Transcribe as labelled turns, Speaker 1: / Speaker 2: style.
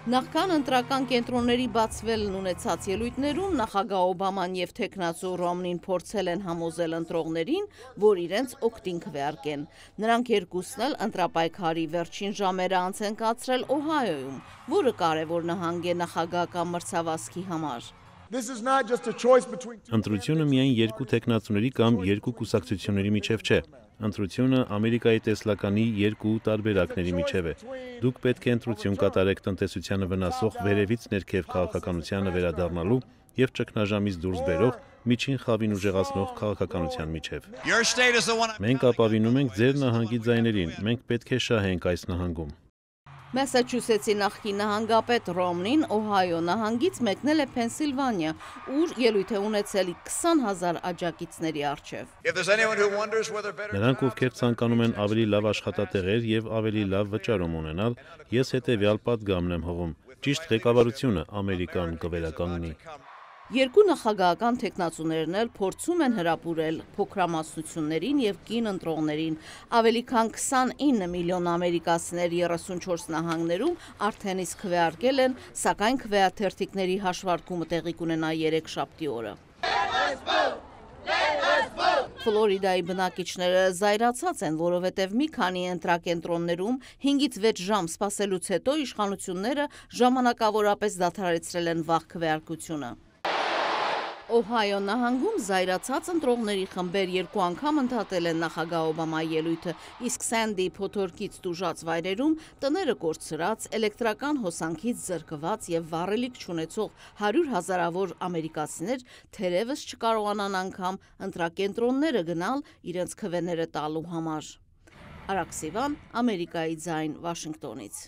Speaker 1: Նախքան ընտրական կենտրոնների բացվելն ունեցած ելույթներում նախագահ Օբաման եւ թեկնածու Ռոմնին փորձել են համոզել ընտրողներին, որ իրենց օգտին քվեարկեն։ Նրանք երկուսն էլ ընտրապայքարի վերջին ժամերը անց են կացրել Օհայոյում, որը կարևոր նահանգ է նախագահական մրցավազքի համար։
Speaker 2: Ընտրությունը միայն երկու թեկնածուների կամ երկու կուսակցությունների միջև չէ։ Ընտրությունը Ամերիկայի տեսլականի երկու տարբերակների միջև է։ Դուք պետք է ընտրություն կատարեք տնտեսությանը վնասող վերևից ներքև քաղաքականությանը վերադառնալու եւ ճգնաժամից դուրս բերող միջին խավին ուժեղացնող քաղաքականության միջև։ Մենք ապավինում ենք ձեր նահանգի ձայներին, մենք պետք է շահենք այս նահանգում։
Speaker 1: Մասաչուսեթսի նախկին նահանգապետ Ռոմնին Օհայո նահանգից մեկնել է Փենսիլվանիա, ուր ելույթ է ունեցել 20,000 աջակիցների առջև։
Speaker 2: Նրանք, ովքեր ցանկանում են ավելի լավ աշխատատեղեր եւ ավելի լավ վճարում ունենալ, ես հետեւյալ պատգամն եմ հղում. ճիշտ ղեկավարությունը Ամերիկան կվերականգնի։
Speaker 1: Երկու նախագահական թեկնածուներն էլ փորձում են հրապուրել փոքրամասնություններին եւ կին ընտրողներին։ Ավելի քան 29 միլիոն ամերիկացիներ 34 նահանգներում արդեն իսկ քվեարկել են, սակայն քվեաթերթիկների հաշվարկումը տեղի կունենա երեքշաբթի օրը։ Ֆլորիդայի բնակիչները զայրացած են, որովհետև մի քանի ընտրակենտրոններում 5-ից 6 ժամ սպասելուց հետո իշխանությունները ժամանակավորապես դադարեցրել են վաղ քվեարկությունը։ Օհայո նահանգում զայրացած ընտրողների խմբեր երկու անգամ ընդհատել են նախագահ Օբամայի ելույթը, իսկ Սենդի փոթորկից տուժած վայրերում տները կորցրած, էլեկտրական հոսանքից զրկված եւ վառելիք չունեցող 100,000-ավոր ամերիկացիներ թերևս չկարողանան անգամ ընտրակենտրոնները գնալ իրենց քվեները տալու համար։ Արաքսիվան, Ամերիկայի ձայն, Վաշինգտոնից։